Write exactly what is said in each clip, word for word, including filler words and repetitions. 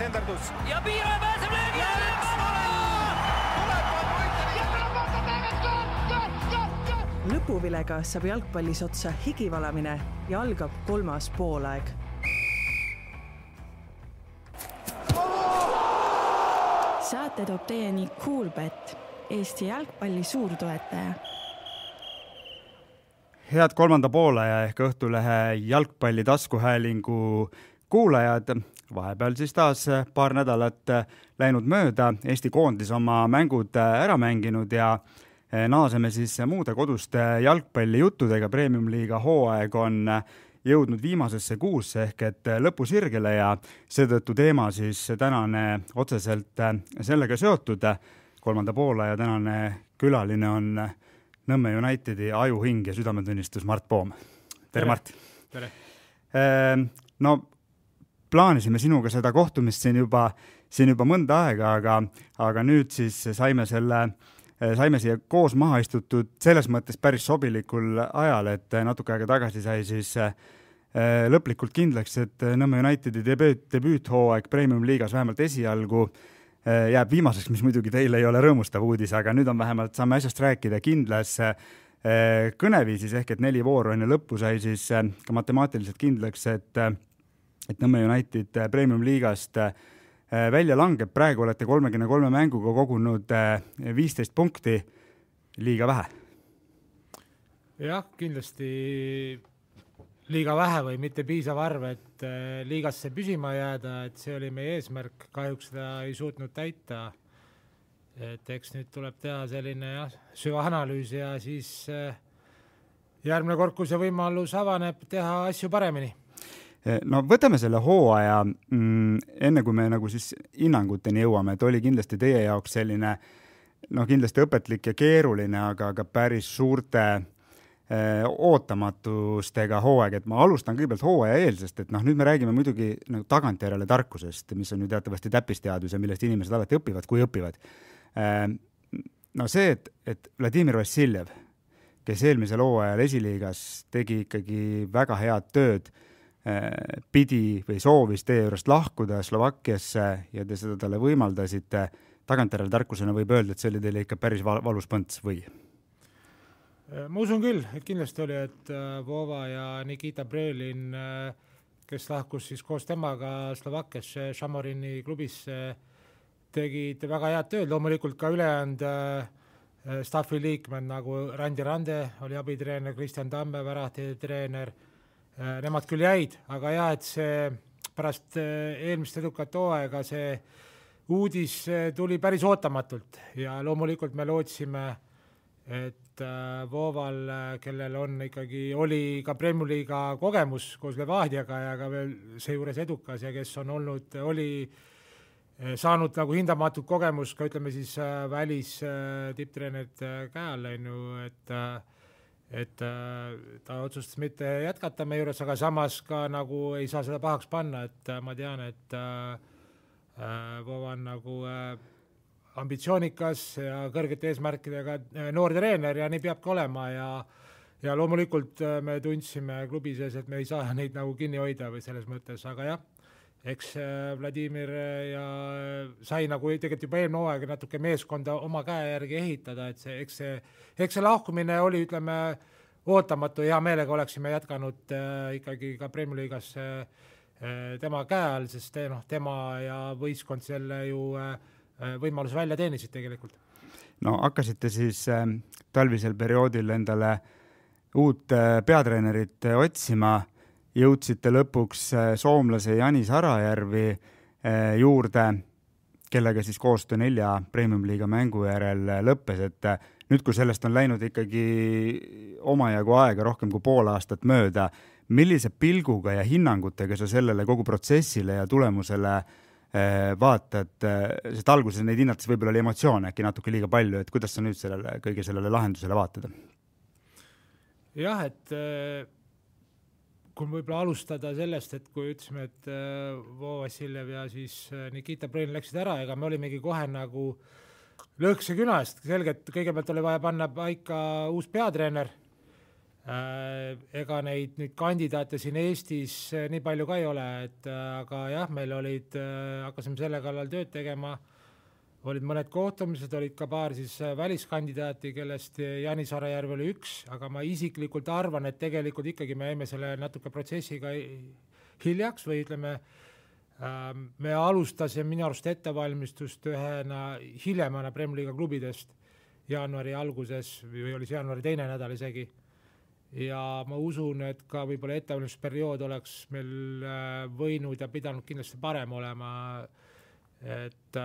senderdus. Ja Piira pääseb löögi. Lõpuvilega saab jalgpallis otsa higivalamine ja algab kolmas poolaeg. Saate toob teieni Coolbet, Eesti jalgpalli suurtoetaja. Head kolmanda poolaja ehk Õhtulehe jalgpalli taskuhäälingu kuulajad. Vahepeal siis taas paar nädalat läinud mööda. Eesti koondis oma mängud ära mänginud ja naaseme siis muude koduste jalgpallijuttudega. Premium-liiga hooaeg on jõudnud viimasesse kuusse ehk et lõpusirgele ja seetõttu teema siis tänane otseselt sellega seotud. Kolmanda poolaja tänane külaline on Nõmme Unitedi ajuhing ja südametunnistus Mart Poom. Tere, Mart! Tere! No, plaanisime sinuga seda kohtumist siin juba, siin juba mõnda aega, aga, aga nüüd siis saime selle saime siia koos maha istutud selles mõttes päris sobilikul ajal, et natuke aega tagasi sai siis lõplikult kindlaks, et Nõmme Unitedi debüüt, debüüthooaeg Premium-liigas vähemalt esialgu jääb viimaseks, mis muidugi teile ei ole rõõmustav uudis, aga nüüd on vähemalt, saame asjast rääkida kindlas kõneviisis ehk et neli vooru enne lõppu sai siis ka matemaatiliselt kindlaks, et, et Nõmme United Premium-liigast välja langeb. Praegu olete kolmekümne kolme mänguga kogunud viisteist punkti, liiga vähe. Jah, kindlasti liiga vähe või mitte piisav arv, et liigasse püsima jääda, et see oli meie eesmärk, kahjuks seda ei suutnud täita. Et eks nüüd tuleb teha selline jah, süvaanalüüs ja siis järgmine kord, kui see võimalus avaneb, teha asju paremini. No võtame selle hooaja mm, enne kui me nagu siis hinnanguteni jõuame, et oli kindlasti teie jaoks selline no kindlasti õpetlik ja keeruline, aga ka päris suurte eh, ootamatustega hooaeg, et ma alustan kõigepealt hooaja eelsest, et noh, nüüd me räägime muidugi nagu tagantjärele tarkusest, mis on ju teatavasti täppisteadus ja millest inimesed alati õpivad, kui õpivad. Eh, no see, et, et Vladimir Vassiljev, kes eelmisel hooajal esiliigas tegi ikkagi väga head tööd, pidi või soovis teie juurest lahkuda Slovakkiasse ja te seda talle võimaldasite, tagantjärele tarkusena võib öelda, et see oli teile ikka päris valus põnts või? Ma usun küll, et kindlasti oli, et Vova ja Nikita Brelin, kes lahkus siis koos temaga Slovakkiasse Šamorini klubisse, tegid väga head tööd, loomulikult ka ülejäänud staffi liikmed nagu Randi Rande oli abitreener, Kristjan Tamme, värahti treener. Nemad küll jäid, aga jah, et see pärast eelmist edukat hooaega see uudis tuli päris ootamatult ja loomulikult me lootsime, et Voval, kellel on ikkagi, oli ka Premium-liiga kogemus koos Levadiaga ja ka veel seejuures edukas ja kes on olnud, oli saanud nagu hindamatut kogemus ka ütleme siis välis tipptreenerid käe all, et et ta otsustas mitte jätkata meie juures, aga samas ka nagu ei saa seda pahaks panna, et ma tean, et Vova on nagu ambitsioonikas ja kõrgete eesmärkidega noor treener ja nii peabki olema ja, ja loomulikult me tundsime klubi sees, et me ei saa neid nagu kinni hoida või selles mõttes, aga jah, eks Vladimir ja sai nagu tegelikult juba eelmine hooaeg natuke meeskonda oma käe järgi ehitada, et see, eks see, eks see lahkumine oli, ütleme, ootamatu, hea meelega oleksime jätkanud äh, ikkagi ka Premium-liigas äh, tema käe all, sest noh, tema ja võistkond selle ju äh, võimalus välja teenisid tegelikult. No hakkasite siis äh, talvisel perioodil endale uut äh, peatreenerit äh, otsima, jõudsite lõpuks soomlase Janis Arajärvi juurde, kellega siis koostöö nelja Premium-liiga mängu järel lõppes, et nüüd, kui sellest on läinud ikkagi omajagu aega rohkem kui pool aastat mööda, millise pilguga ja hinnangutega sa sellele kogu protsessile ja tulemusele vaatad, sest alguses neid hinnates võib-olla oli emotsioone äkki natuke liiga palju, et kuidas sa nüüd sellele, kõige sellele lahendusele vaatad? Jah, et kui võib-olla alustada sellest, et kui ütlesime, et Vo Vassiljev ja siis Nikita Brelin läksid ära, ega me olimegi kohe nagu lõhkse künast. Selgelt kõigepealt oli vaja panna paika uus peatreener ega neid nüüd kandidaate siin Eestis nii palju ka ei ole, et aga jah, meil olid, hakkasime selle kallal tööd tegema, olid mõned kohtumised, olid ka paar siis väliskandidaati, kellest Janis Arajärv oli üks, aga ma isiklikult arvan, et tegelikult ikkagi me jäime selle natuke protsessiga hiljaks või ütleme, me alustasime minu arust ettevalmistust ühena hiljemana Premier League klubidest jaanuari alguses või oli see jaanuari teine nädal isegi. Ja ma usun, et ka võib-olla ettevalmistusperiood oleks meil võinud ja pidanud kindlasti parem olema, et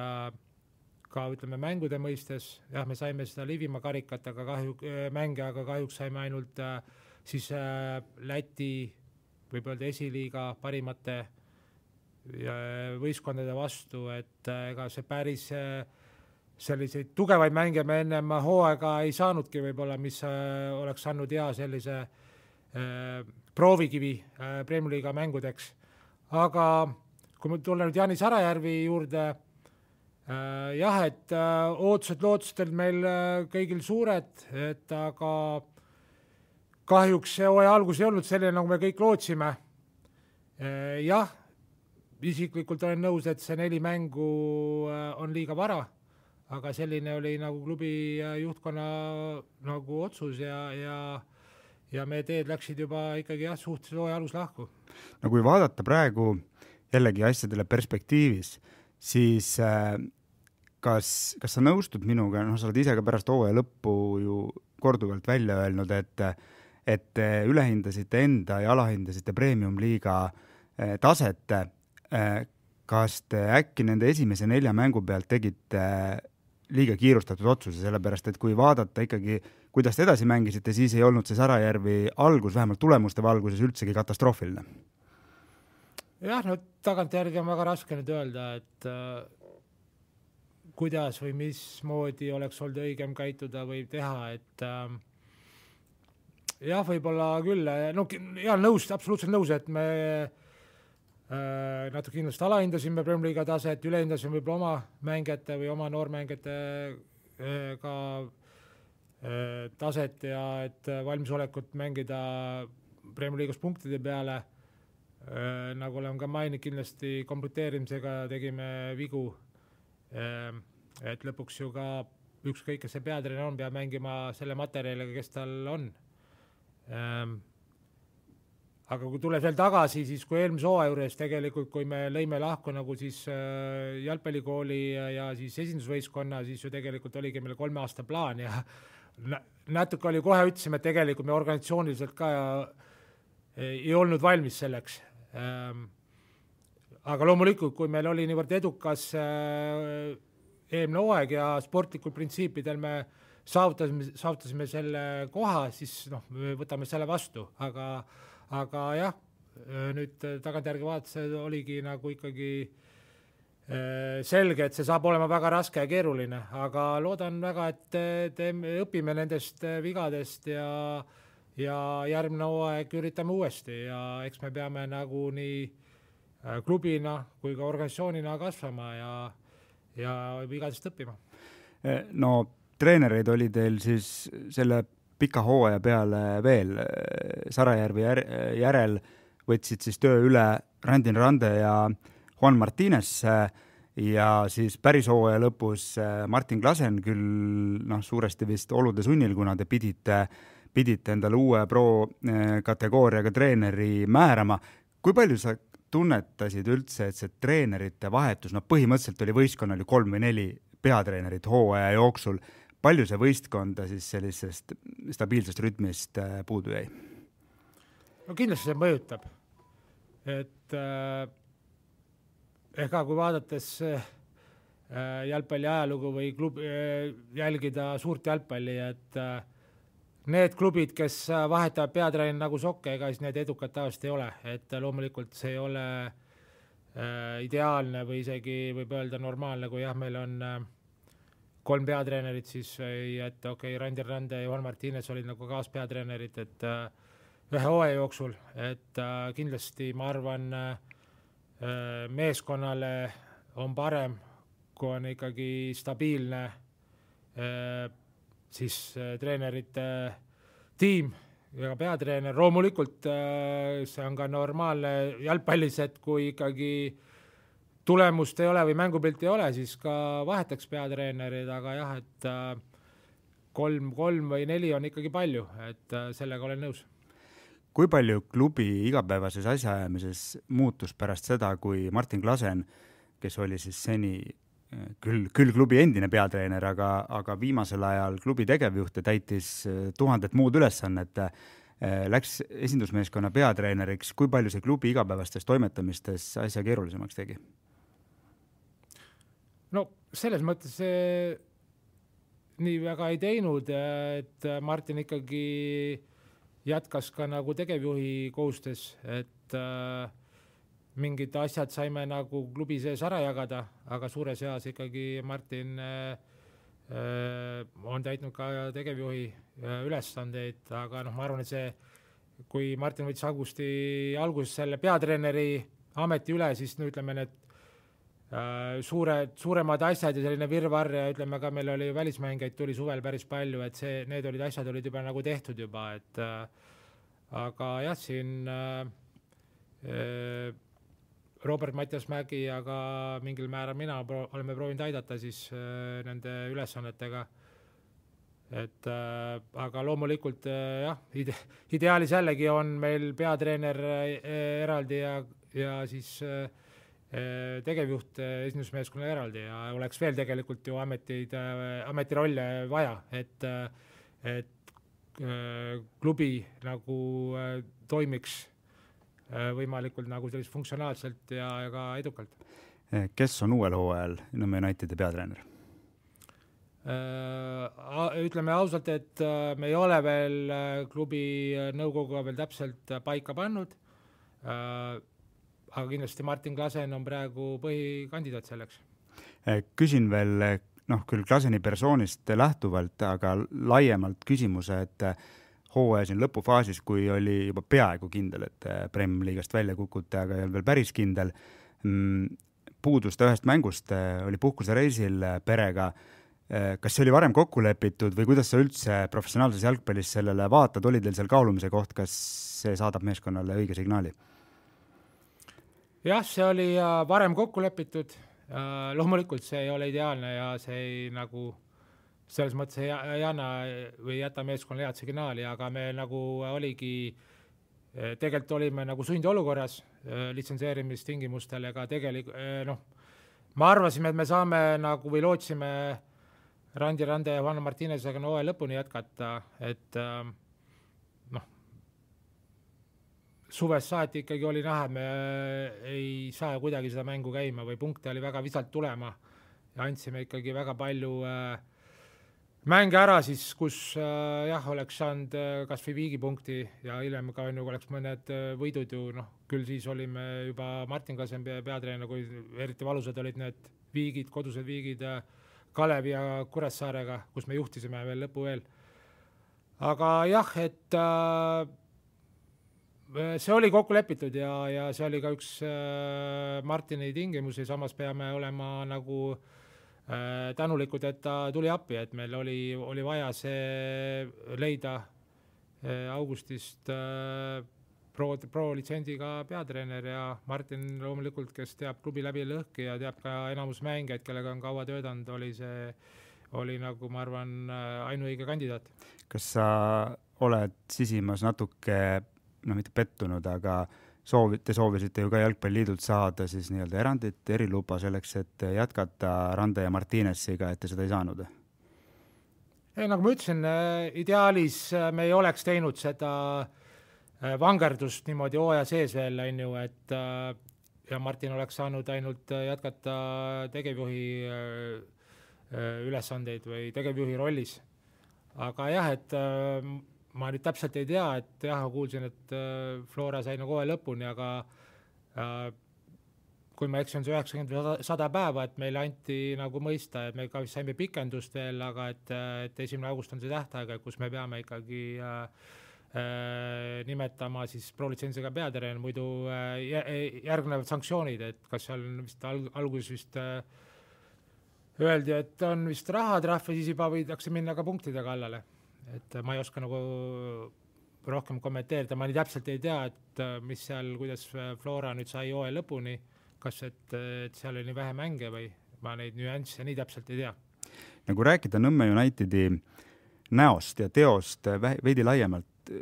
ka ütleme mängude mõistes, jah, me saime seda Liivimaa karikat, aga kahju, mänge, aga kahjuks saime ainult siis Läti võib öelda esiliiga parimate võistkondade vastu, et ega see päris selliseid tugevaid mänge me ennem hooaega ei saanudki võib-olla, mis oleks saanud hea sellise proovikivi Premier League mängudeks. Aga kui me tulla nüüd Janis Arajärvi juurde, jah, et ootused lootused meil kõigil suured, et aga kahjuks see hooaja algus ei olnud selline, nagu me kõik lootsime. Jah, isiklikult olen nõus, et see neli mängu on liiga vara, aga selline oli nagu klubi juhtkonna nagu otsus ja, ja, ja me teed läksid juba ikkagi jah, suhteliselt hooaja alus lahku. No kui vaadata praegu jällegi asjadele perspektiivis, siis kas, kas sa nõustud minuga, noh, sa oled ise ka pärast hooaja lõppu ju korduvalt välja öelnud, et, et ülehindasite enda ja alahindasite premium-liiga taset, kas te äkki nende esimese nelja mängu pealt tegite liiga kiirustatud otsuse, sellepärast et kui vaadata ikkagi, kuidas te edasi mängisite, siis ei olnud see Sarajärvi algus, vähemalt tulemuste valguses üldsegi katastroofiline. Jah, no tagantjärgi on väga raske nüüd öelda, et äh, kuidas või mismoodi oleks olnud õigem käituda või teha, et äh, jah, võib-olla küll, no jah, nõus, absoluutselt nõus, et me äh, natuke kindlasti alahindasime Premier League taset, ülehindasime võib-olla oma mängijate või oma noormängijate äh, ka äh, taset ja et valmisolekut mängida Premier League'is punktide peale. Äh, nagu olen ka maininud, kindlasti kompleteerimisega tegime vigu, äh, et lõpuks ju ka ükskõik, kes see peatreener on, peab mängima selle materjaliga, kes tal on. Äh, aga kui tuleb veel tagasi, siis kui eelmise hooaja juures tegelikult, kui me lõime lahku nagu siis äh, jalgpallikooli ja, ja siis esindusvõistkonna, siis ju tegelikult oligi meil kolme aasta plaan ja natuke oli kohe ütlesime, et tegelikult me organisatsiooniliselt ka ei olnud valmis selleks. Aga loomulikult, kui meil oli niivõrd edukas eelmine hooaeg ja sportlikul printsiipidel me saavutasime, saavutasime selle koha, siis noh, me võtame selle vastu. Aga, aga jah, nüüd tagantjärgi vaadates oligi nagu ikkagi selge, et see saab olema väga raske ja keeruline, aga loodan väga, et teeme, õpime nendest vigadest ja ja järgmine hooaeg üritame uuesti ja eks me peame nagu nii klubina kui ka organisatsioonina kasvama ja, ja vigadest õppima. No treenereid oli teil siis selle pika hooaja peale veel. Sarajärvi järel võtsid siis töö üle Randin Rande ja Juan Martínez ja siis päris hooaja lõpus Martin Klasen küll noh, suuresti vist olude sunnil, kuna te pidite pidite endale uue pro-kategooriaga treeneri määrama. Kui palju sa tunnetasid üldse, et see treenerite vahetus, no põhimõtteliselt oli võistkonnal ju kolm või neli peatreenerit hooaja jooksul, palju see võistkonda siis sellisest stabiilsest rütmist puudu jäi? No kindlasti see mõjutab. Et äh, ega kui vaadates äh, jalgpalli ajalugu või klubi, äh, jälgida suurt jalgpalli, et äh, need klubid, kes vahetavad peatreener nagu sokke, ega siis need edukad tavaliselt ei ole, et loomulikult see ei ole äh, ideaalne või isegi võib öelda normaalne, kui jah, meil on äh, kolm peatreenerit, siis et okei, okay, Randi Rande ja Juan Martínez olid nagu kaaspeatreenerid, et äh, ühe hooaja jooksul, et äh, kindlasti ma arvan äh, meeskonnale on parem, kui on ikkagi stabiilne äh, siis treenerite tiim ja peatreener, loomulikult see on ka normaalne jalgpallis, et kui ikkagi tulemust ei ole või mängupilt ei ole, siis ka vahetaks peatreenerid, aga jah, et kolm, kolm või neli on ikkagi palju, et sellega olen nõus. Kui palju klubi igapäevases asjaajamises muutus pärast seda, kui Martin Klasen, kes oli siis seni küll, küll klubi endine peatreener, aga, aga viimasel ajal klubi tegevjuht ja täitis tuhandet muud ülesannet, läks esindusmeeskonna peatreeneriks, kui palju see klubi igapäevastes toimetamistes asja keerulisemaks tegi? No selles mõttes see nii väga ei teinud, et Martin ikkagi jätkas ka nagu tegevjuhi kohustes, et äh, mingid asjad saime nagu klubi sees ära jagada, aga suures eas ikkagi Martin äh, on täitnud ka tegevjuhi äh, ülesandeid, aga noh, ma arvan, et see, kui Martin võttis augusti alguses selle peatreeneri ameti üle, siis no ütleme, need äh, suured, suuremad asjad ja selline virvarr ja ütleme ka, meil oli välismängeid tuli suvel päris palju, et see, need olid asjad olid juba nagu tehtud juba, et äh, aga jah, siin äh, äh, Robert Mattias Mägi, aga mingil määral mina pro- oleme proovinud aidata siis äh, nende ülesannetega. Et, äh, aga loomulikult äh, jah, ide- ideaalis jällegi on meil peatreener äh, eraldi ja, ja siis äh, tegevjuht äh, esindusmeeskonna eraldi ja oleks veel tegelikult ju ametid, äh, ametirolle vaja, et, äh, et äh, klubi nagu äh, toimiks võimalikult nagu sellist funktsionaalselt ja, ja ka edukalt. Kes on uuel hooajal Nõmme Unitedi peatreener? Ütleme ausalt, et me ei ole veel klubi nõukoguga veel täpselt paika pannud, aga kindlasti Martin Klasen on praegu põhikandidaat selleks. Küsin veel, noh, küll Klaseni persoonist lähtuvalt, aga laiemalt küsimuse, et hooaja siin lõpufaasis, kui oli juba peaaegu kindel, et Prem liigast välja kukute, aga ei olnud veel päris kindel. Puudus ta ühest mängust, oli puhkusereisil perega. Kas see oli varem kokku lepitud või kuidas sa üldse professionaalses jalgpallis sellele vaatad? Oli teil seal kaalumise koht, kas see saadab meeskonnale õige signaali? Jah, see oli varem kokku lepitud. Loomulikult see ei ole ideaalne ja see ei nagu selles mõttes ei, ei anna või jäta meeskonnale head signaali, aga me nagu oligi, tegelikult olime nagu sundolukorras litsenseerimistingimustel, ega tegelikult, noh, ma arvasime, et me saame nagu või lootsime Randi Rande ja Juan Martinezega hooaja lõpuni jätkata, et noh, suves saati ikkagi oli näha, me ei saa kuidagi seda mängu käima või punkte oli väga visalt tulema ja andsime ikkagi väga palju äh, mänge ära siis, kus äh, jah, oleks saanud äh, kas või viigipunkti ja hiljem ka on ju, oleks mõned äh, võidud ju, noh, küll siis olime juba Martin Klasen peatreener, kui eriti valusad olid need viigid, kodused viigid äh, Kalevi ja Kuressaarega, kus me juhtisime veel lõpu veel. Aga jah, et äh, see oli kokku lepitud ja, ja see oli ka üks äh, Martini tingimusi, samas peame olema nagu tänulikud, et ta tuli appi, et meil oli, oli vaja see leida augustist pro, pro litsendiga peatreener ja Martin loomulikult, kes teab klubi läbi lõhki ja teab ka enamus mängijaid, kellega on kaua töötanud, oli see, oli nagu ma arvan ainuõige kandidaat. Kas sa oled sisimas natuke, no mitte pettunud, aga Soovi, te soovisite ju ka Jalgpalliliidult saada siis nii-öelda erandit, eriluba selleks, et jätkata Rande ja Martinesiga, et te seda ei saanud? Ei, nagu ma ütlesin, ideaalis me ei oleks teinud seda vangerdust niimoodi hooaja sees veel, on ju, et ja Martin oleks saanud ainult jätkata tegevjuhi ülesandeid või tegevjuhi rollis. Aga jah, et ma nüüd täpselt ei tea, et jah, kuulsin, et Flora sai nagu hooaja lõpuni, aga äh, kui ma eksin, see üheksakümmend sada päeva, et meile anti nagu mõista, et me ka saime pikendust veel, aga et, et esimene august on see tähtaega, kus me peame ikkagi äh, äh, nimetama siis pro-litsentsiga peatreener, muidu äh, järgnevad sanktsioonid, et kas seal vist alg- alguses vist äh, öeldi, et on vist rahatrahv ja siis juba võidakse minna ka punktide kallale. Et ma ei oska nagu rohkem kommenteerida, ma nii täpselt ei tea, et mis seal, kuidas Flora nüüd sai hooaja lõpuni, kas et, et seal oli nii vähe mänge või ma neid nüansse nii täpselt ei tea. Nagu rääkida Nõmme Unitedi näost ja teost veidi laiemalt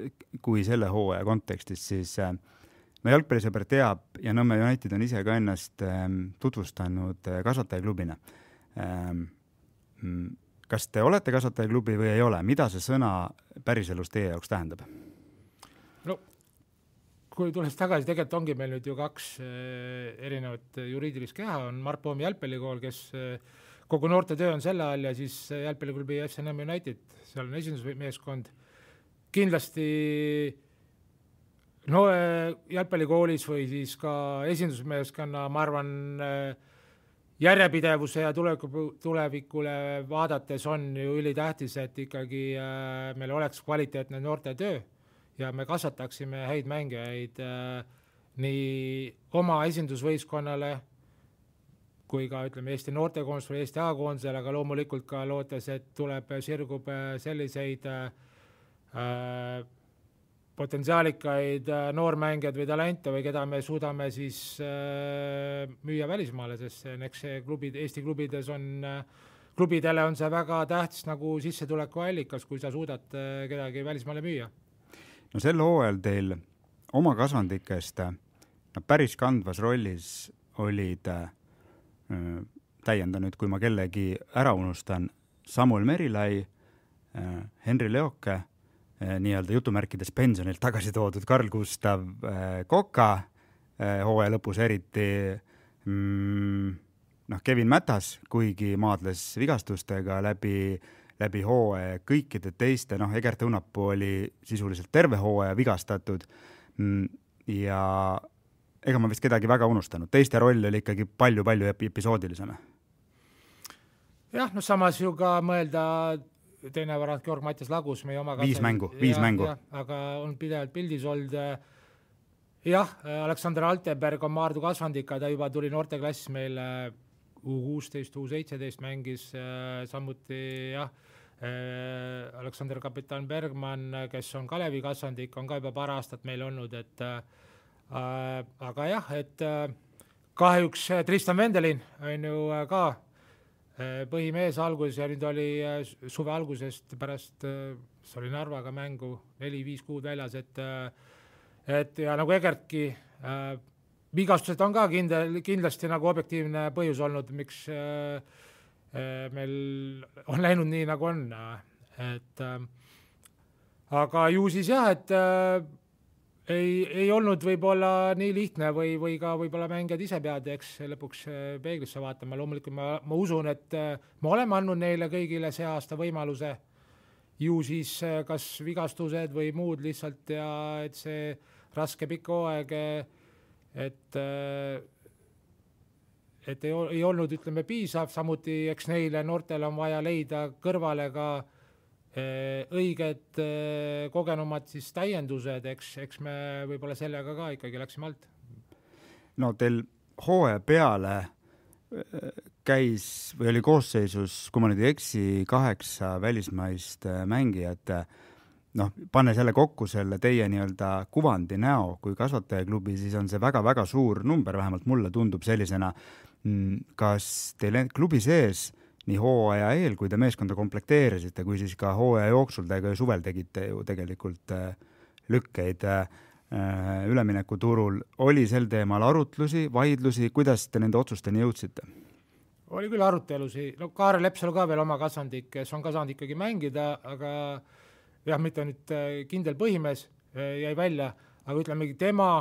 kui selle hooaja kontekstis, siis no jalgpallisõber teab ja Nõmme United on ise ka ennast tutvustanud kasvatajaklubina. Kas te olete kasvatajaklubi või ei ole? Mida see sõna päriselus teie jaoks tähendab? No, kui tulles tagasi, tegelikult ongi meil nüüd ju kaks erinevat juriidilist keha, on Mart Poomi jalgpallikool, kes kogu noorte töö on selle all ja siis jalgpalliklubi F C Nõmme United, seal on esindusmeeskond. Kindlasti no jalgpallikoolis või siis ka esindusmeeskonna, ma arvan, järjepidevuse ja tulevikule vaadates on ju ülitähtis, et ikkagi meil oleks kvaliteetne noorte töö ja me kasvataksime häid mängijaid nii oma esindusvõistkonnale kui ka ütleme Eesti noortekoondus või Eesti A-koondusele, aga loomulikult ka lootes, et tuleb, sirgub selliseid äh, potentsiaalikaid noormängijad või talente või keda me suudame siis äh, müüa välismaale, sest eks see klubid, Eesti klubides on, klubidele on see väga tähtis nagu sissetuleku allikas, kui sa suudad äh, kedagi välismaale müüa. No sel hooajal teil oma kasvandikest no, päris kandvas rollis olid äh, täienda nüüd, kui ma kellegi ära unustan, Samuel Merilai, äh, Henri Leoke, nii-öelda jutumärkides pensionilt tagasi toodud Karl Gustav Koka, hooaja lõpus eriti mm, noh, Kevin Mätas, kuigi maadles vigastustega läbi, läbi hooaja, kõikide teiste, noh, Egert Õunapuu oli sisuliselt terve hooaja vigastatud mm, ja ega ma vist kedagi väga unustanud. Teiste roll oli ikkagi palju-palju episoodilisem. Jah, no samas ju ka mõelda teine varad Georg Mattias Lagus, meie oma viis mängu, viis ja, mängu. Ja, aga on pidevalt pildis olnud. Jah, Aleksander Altenberg on Maardu kasvandika, ta juba tuli noorteklassis meil U kuusteist, U seitseteist mängis, samuti jah, Aleksander Kapitan Bergman, kes on Kalevi kasvandik, on ka juba paar aastat meil olnud, et äh, aga jah, et äh, kahjuks Tristan Vendelin on ju ka põhimees alguses ja nüüd oli suve algusest pärast, see oli Narvaga mängu, neli viis kuud väljas, et, et ja nagu Egertki, äh, vigastused on ka kindel, kindlasti nagu objektiivne põhjus olnud, miks äh, meil on läinud nii, nagu on. Et, äh, aga ju siis jah, et äh, Ei, ei olnud võib-olla nii lihtne või, või ka võib-olla mängijad ise pead, eks lõpuks peeglisse vaatama. Loomulikult ma, ma usun, et me oleme andnud neile kõigile see aasta võimaluse ju siis kas vigastused või muud lihtsalt ja et see raske pikk hooaeg, et, et ei, ei olnud, ütleme, piisav. Samuti eks neile noortele on vaja leida kõrvale ka õiged kogenumad siis täiendused, eks, eks me võib-olla sellega ka ikkagi läksime alt. No teil hooaja peale käis või oli koosseisus, kui ma nüüd ei eksi, kaheksa välismaist mängijat, noh, panne selle kokku selle teie nii-öelda kuvandi näo kui kasvatajaklubi, siis on see väga-väga suur number, vähemalt mulle tundub sellisena. Kas teil klubi sees nii hooaja eel, kui te meeskonda komplekteerisite, kui siis ka hooaja jooksul te ka suvel tegite ju tegelikult lükkeid ülemineku turul. Oli sel teemal arutlusi, vaidlusi, kuidas te nende otsusteni jõudsite? Oli küll arutelusi. No Kaarel Lepsalu ka veel oma kasvandik, kes on kasvand ikkagi mängida, aga jah, mitte nüüd kindel põhimees jäi välja, aga ütlemegi tema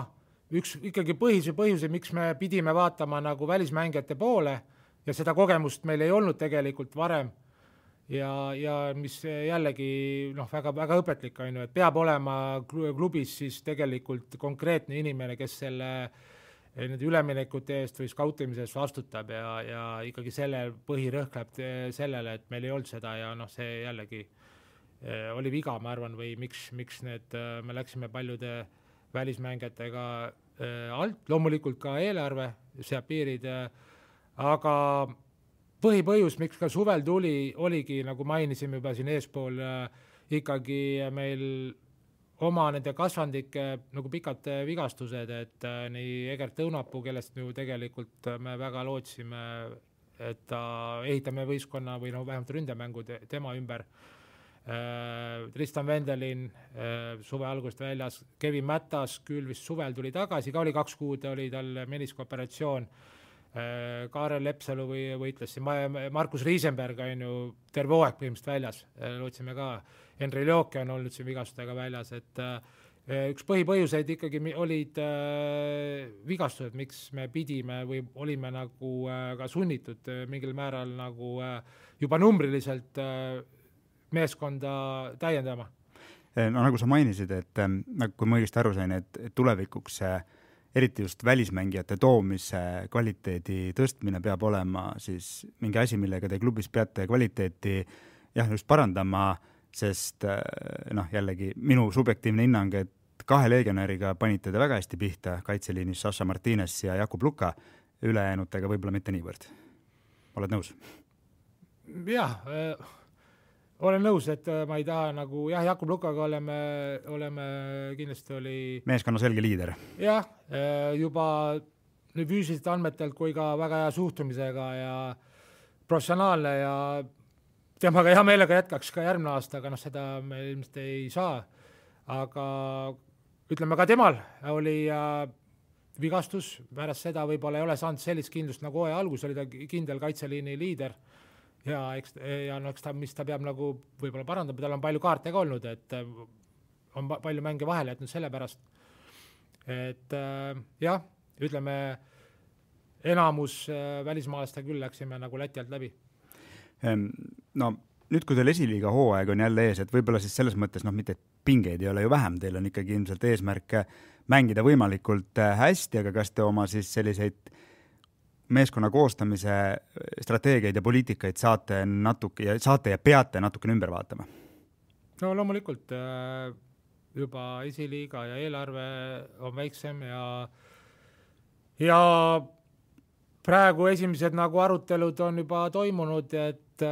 üks ikkagi põhise põhjuse, miks me pidime vaatama nagu välismängijate poole, ja seda kogemust meil ei olnud tegelikult varem ja, ja mis jällegi noh, väga, väga õpetlik on ju, et peab olema klubis siis tegelikult konkreetne inimene, kes selle nende üleminekute eest või skautimise eest vastutab ja, ja ikkagi selle põhirõhk läheb sellele, et meil ei olnud seda ja noh, see jällegi oli viga, ma arvan, või miks, miks need, me läksime paljude välismängijatega alt, loomulikult ka eelarve, seab piirid, aga põhipõhjus, miks ka suvel tuli, oligi, nagu mainisime juba siin eespool, ikkagi meil oma nende kasvandike nagu pikad vigastused, et nii Egert Õunapuu, kellest ju tegelikult me väga lootsime, et ta ehitame võistkonna või no vähemalt ründemängu tema ümber. Tristan Vendelin suve algust väljas, Kevin Mätas küll vist suvel tuli tagasi, ka oli kaks kuud, oli tal meniskoperatsioon. Kaarel Lepsalu või võitles siin, Markus Riisenberg on ju terve hooaeg põhimõtteliselt väljas, lootsime ka. Henri Looke on olnud siin vigastustega väljas, et üks põhipõhjuseid ikkagi olid vigastused, miks me pidime või olime nagu ka sunnitud mingil määral nagu juba numbriliselt meeskonda täiendama. No nagu sa mainisid, et kui ma õigesti aru sain, et tulevikuks eriti just välismängijate toomise kvaliteedi tõstmine peab olema siis mingi asi, millega te klubis peate kvaliteeti jah, just parandama, sest noh, jällegi minu subjektiivne hinnang, et kahe legionäriga panite te väga hästi pihta kaitseliinis Sasha Martinez ja Jakub Luka, ülejäänutega võib-olla mitte niivõrd. Oled nõus? Jah, olen nõus, et ma ei taha nagu, jah, Jakub Lukaga oleme, oleme kindlasti oli... meeskonna selge liider. Jah, juba nii füüsiliste andmetelt kui ka väga hea suhtumisega ja professionaalne ja temaga hea meelega jätkaks ka järgmine aasta, aga noh, seda me ilmselt ei saa. Aga ütleme ka temal oli vigastus, pärast seda võib-olla ei ole saanud sellist kindlust nagu hooaja algus, oli ta kindel kaitseliini liider. Ja, eks, ja no, eks ta, mis ta peab nagu võib-olla parandama, tal on palju kaarte ka olnud, et on palju mänge vahele jätnud selle pärast. Et jah, ütleme, enamus välismaalasta küll läksime nagu Läti alt läbi. No nüüd, kui teil esiliiga hooaeg on jälle ees, et võib-olla siis selles mõttes, noh, mitte pingeid ei ole ju vähem, teil on ikkagi ilmselt eesmärk mängida võimalikult hästi, aga kas te oma siis selliseid meeskonna koostamise strateegiaid ja poliitikaid saate natuke ja saate ja peate natukene ümber vaatama? No loomulikult juba esiliiga ja eelarve on väiksem ja ja praegu esimesed nagu arutelud on juba toimunud, et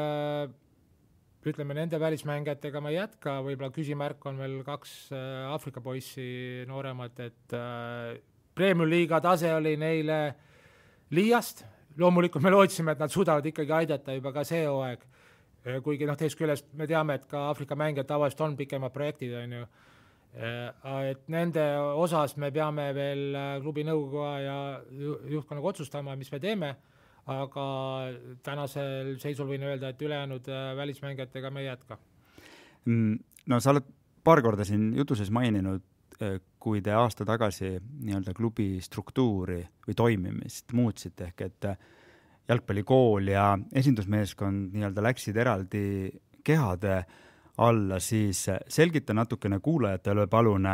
ütleme, nende välismängijatega ma ei jätka, võib-olla küsimärk on veel kaks Aafrika poissi nooremat, et Premium liiga tase oli neile liiast, loomulikult me lootsime, et nad suudavad ikkagi aidata juba ka see hooaeg, kuigi noh, teist küljest me teame, et ka Aafrika mängijad tavaliselt on pikemad projektid, on ju. Et nende osas me peame veel klubi nõukoguga ja juhtkonnaga otsustama, mis me teeme, aga tänasel seisul võin öelda, et ülejäänud välismängijatega me ei jätka. No sa oled paar korda siin jutuses maininud, kui te aasta tagasi nii-öelda klubi struktuuri või toimimist muutsite, ehk et jalgpallikool ja esindusmeeskond nii-öelda läksid eraldi kehade alla, siis selgita natukene kuulajatele palun,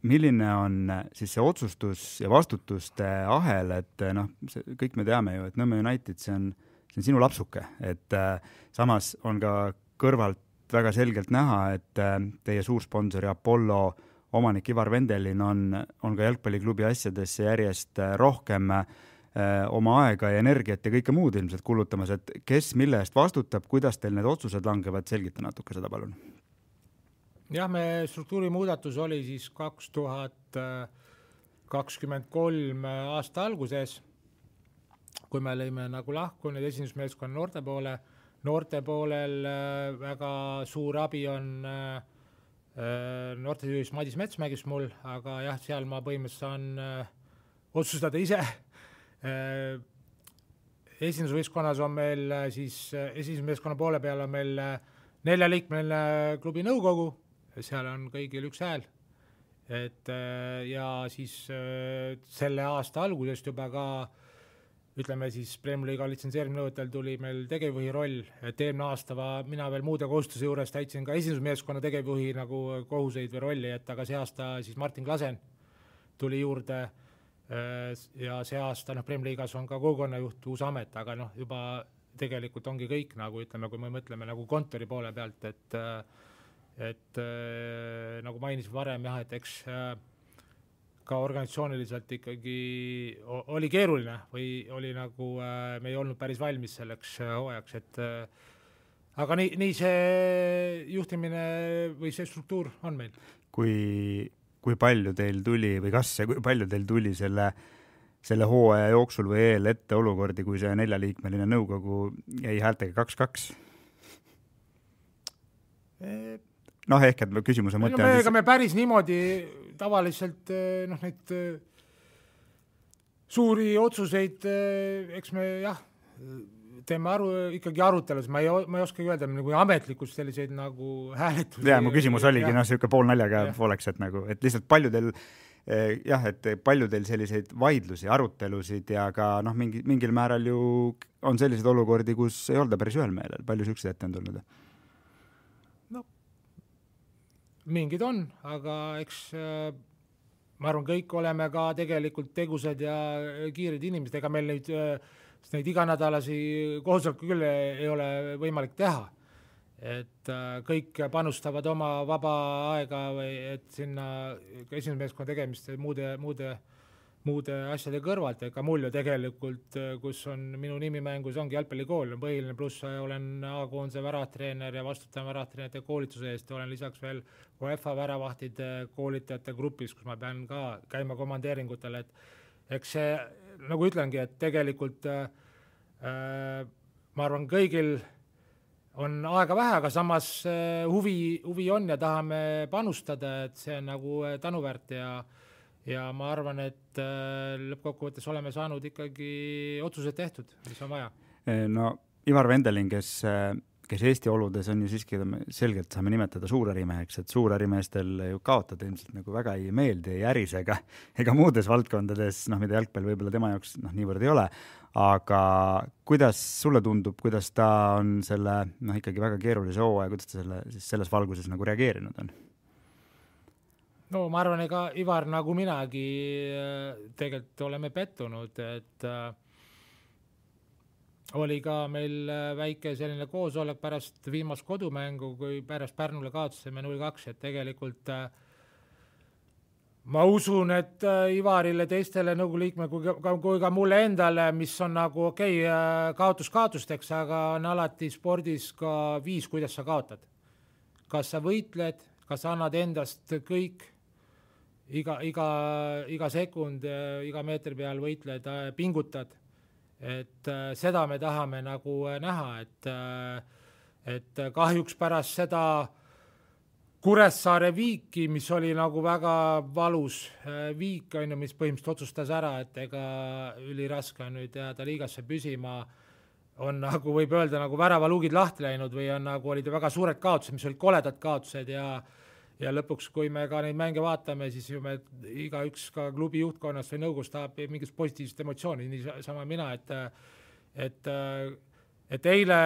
milline on siis see otsustus ja vastutuste ahel, et noh, see, kõik me teame ju, et Nõmme United, see on, see on sinu lapsuke, et samas on ka kõrvalt väga selgelt näha, et teie suursponsori Apollo omanik Ivar Vendelin on, on ka jalgpalliklubi asjadesse järjest rohkem eh, oma aega ja energiat ja kõike muud ilmselt kulutamas, et kes mille eest vastutab, kuidas teil need otsused langevad, selgita natuke seda palun. Jah, me struktuuri muudatus oli siis kaks tuhat kakskümmend kolm aasta alguses, kui me lõime nagu lahku nüüd esindusmeeskonna noorte poole. Noorte poolel väga suur abi on noortejuhis Madis Metsmägis mul, aga jah, seal ma põhimõtteliselt saan äh, otsustada ise. Äh, esindusvõistkonnas on meil äh, siis äh, esindusmeeskonna poole peal on meil äh, neljaliikmeline klubi nõukogu, seal on kõigil üks hääl. Et äh, ja siis äh, selle aasta algusest juba ka ütleme siis Premier League litsenseerimisnõuetel tuli meil tegevjuhi roll, et eelmine aasta va, mina veel muude kohustuse juures täitsin ka esindusmeeskonna tegevjuhi nagu kohuseid või rolli, et aga see aasta siis Martin Klasen tuli juurde ja see aasta noh, Premier League'as on ka kogukonnajuht uus amet, aga noh, juba tegelikult ongi kõik nagu ütleme, kui me mõtleme nagu kontori poole pealt, et et nagu mainisin varem jah, et eks ka organisatsiooniliselt ikkagi oli keeruline või oli nagu me ei olnud päris valmis selleks hooajaks, et aga nii, nii see juhtimine või see struktuur on meil. Kui, kui palju teil tuli või kas ja kui palju teil tuli selle, selle hooaja jooksul või eel ette olukordi, kui see neljaliikmeline nõukogu jäi häältega kaks kaks? Noh, ehk et küsimuse mõte no, me, on... Ega me päris niimoodi tavaliselt noh, neid suuri otsuseid, eks me jah, teeme aru, ikkagi arutelus, ma ei, ma ei oska öelda nagu ametlikult selliseid nagu hääletusi. Ja, mu küsimus oligi noh, siuke pool naljaga pooleks, et nagu, et lihtsalt paljudel jah, et paljudel selliseid vaidlusi, arutelusid ja ka noh, mingi, mingil määral ju on selliseid olukordi, kus ei olda päris ühel meelel. Palju siukseid ette on tulnud? No, mingid on, aga eks ma arvan, kõik oleme ka tegelikult tegusad ja kiired inimesed, ega meil neid, neid iganädalasi koosoleku küll ei ole võimalik teha. Et kõik panustavad oma vaba aega või et sinna esimesmeeskonna tegemist muude, muude, muude asjade kõrvalt, ega mul ju tegelikult, kus on minu nimi mängus, ongi jalgpallikool, on põhiline, pluss olen A-koondise väravtreener ja vastutan väravtreenerite koolituse eest, olen lisaks veel UEFA väravahtide koolitajate grupis, kus ma pean ka käima komandeeringutel, et eks see, nagu ütlengi, et tegelikult äh, ma arvan kõigil on aega vähe, aga samas huvi, huvi on ja tahame panustada, et see on nagu tänuväärt ja, ja ma arvan, et lõppkokkuvõttes oleme saanud ikkagi otsused tehtud, mis on vaja. No Ivar Vendelin, kes, kes Eesti oludes on ju siiski selgelt saame nimetada suurärimeheks, et suurärimeestel ju kaotada ilmselt nagu väga ei meeldi, ei äris ega, ega muudes valdkondades, noh, mida jalgpall võib-olla tema jaoks noh, niivõrd ei ole. Aga kuidas sulle tundub, kuidas ta on selle noh, ikkagi väga keerulise hooaja, kuidas ta selle, siis selles valguses nagu reageerinud on? No ma arvan, ega Ivar nagu minagi tegelikult oleme pettunud, et äh, oli ka meil väike selline koosolek pärast viimast kodumängu, kui pärast Pärnule kaotasime null kaks, et tegelikult äh, ma usun, et Ivarile, teistele nõukogu liikme kui ka, kui ka mulle endale, mis on nagu okei okay, kaotus kaotusteks, aga on alati spordis ka viis, kuidas sa kaotad. Kas sa võitled, kas sa annad endast kõik, iga, iga, iga sekund, iga meetri peal võitled, pingutad. Et seda me tahame nagu näha, et, et kahjuks pärast seda Kuressaare viiki, mis oli nagu väga valus viik, on ju, mis põhimõtteliselt otsustas ära, et ega üliraske on nüüd jääda liigasse püsima, on nagu võib öelda nagu väravaluugid lahti läinud või on nagu olid väga suured kaotused, mis olid koledad kaotused ja, ja lõpuks, kui me ka neid mänge vaatame, siis ju me iga üks ka klubi juhtkonnast või nõukogus tahab mingit positiivset emotsiooni, nii sama mina, et, et et eile,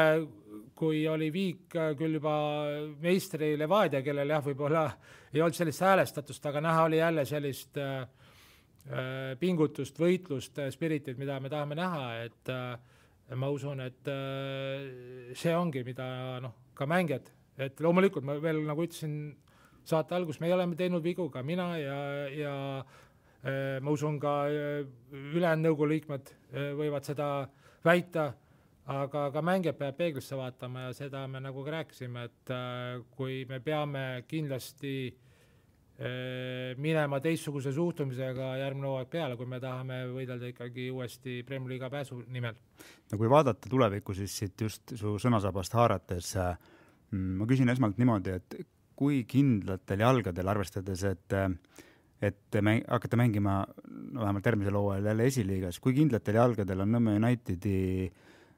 kui oli viik küll juba meistri Levadia, kellel jah, võib-olla ei olnud sellist häälestatust, aga näha oli jälle sellist äh, pingutust, võitlust, spiritit, mida me tahame näha, et äh, ma usun, et äh, see ongi, mida noh, ka mängijad, et loomulikult ma veel nagu ütlesin saate algus, me oleme teinud vigu ka mina ja, ja äh, ma usun ka ülejäänud nõukogu liikmed äh, võivad seda väita, aga ka mängijad peab peeglisse vaatama ja seda me nagu ka rääkisime, et äh, kui me peame kindlasti äh, minema teistsuguse suhtumisega järgmine hooaeg peale, kui me tahame võidelda ikkagi uuesti Premier Liiga pääsu nimel. No kui vaadata tulevikku, siis siit just su sõnasabast haarates, äh, ma küsin esmalt niimoodi, et kui kindlatel jalgadel arvestades, et et mäng, hakata mängima no, vähemalt järgmisel hooajal jälle esiliigas, kui kindlatel jalgadel on Nõmme Unitedi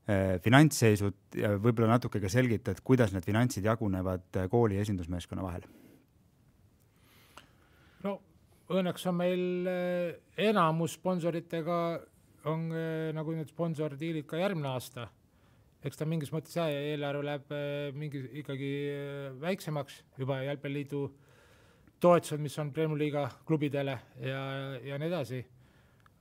finantsseisud ja võib-olla natuke ka selgitad, kuidas need finantsid jagunevad kooli esindusmeeskonna vahel? No õnneks on meil enamus sponsoritega on nagu need sponsordiilid ka järgmine aasta. Eks ta mingis mõttes jah, eelarve läheb mingi ikkagi väiksemaks juba Jalgpalliliidu toetused, mis on Premier Liiga klubidele ja, ja nii edasi.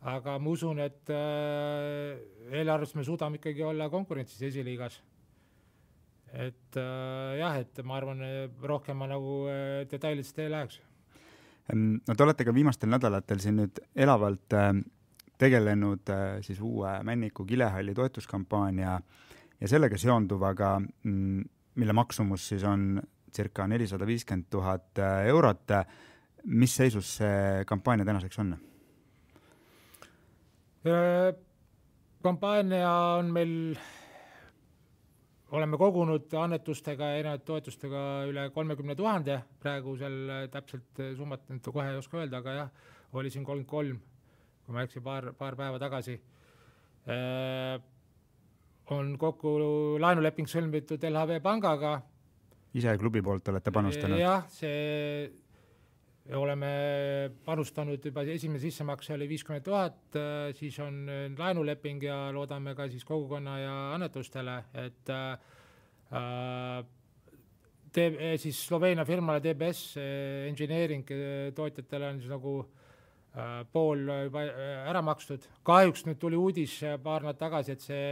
Aga ma usun, et äh, eelarvest me suudame ikkagi olla konkurentsis esiliigas. Et äh, jah, et ma arvan, rohkem ma nagu äh, detailidest ei läheks. No te olete ka viimastel nädalatel siin nüüd elavalt äh, tegelenud äh, siis uue Männiku Kilehalli toetuskampaania ja sellega seonduvaga mm, mille maksumus siis on circa nelisada viiskümmend tuhat eurot. Mis seisus see kampaania tänaseks on? Kampaania on meil, oleme kogunud annetustega ja erinevate toetustega üle kolmekümne tuhande, praegu seal täpselt summat kohe ei oska öelda, aga jah, oli siin kolmkümmend kolm, kui ma eksin paar, paar päeva tagasi. On kokku laenuleping sõlmitud L H V pangaga. Ise klubi poolt olete panustanud? Jah, see oleme panustanud juba esimene sissemakse oli viiskümmend tuhat, siis on laenuleping ja loodame ka siis kogukonna ja annetustele, et äh, te, siis Sloveenia firmale D B S Engineering tootjatele on siis nagu äh, pool ära makstud. Kahjuks nüüd tuli uudis paar nädalat tagasi, et see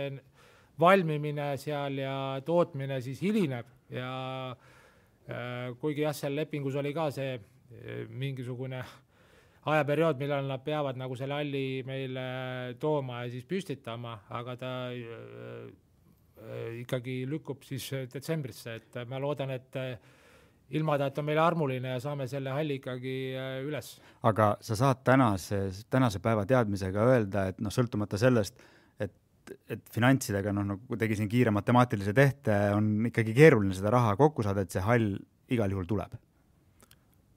valmimine seal ja tootmine siis hilineb ja äh, kuigi jah, seal lepingus oli ka see mingisugune ajaperiood, millal nad peavad nagu selle halli meile tooma ja siis püstitama, aga ta äh, ikkagi lükkub siis detsembrisse, et ma loodan, et ilma ta, et on meile armuline ja saame selle halli ikkagi üles. Aga sa saad tänase, tänase päeva teadmisega öelda, et noh, sõltumata sellest, et, et finantsidega, noh, no tegi siin kiire matemaatilise tehte, on ikkagi keeruline seda raha kokku saada, et see hall igal juhul tuleb?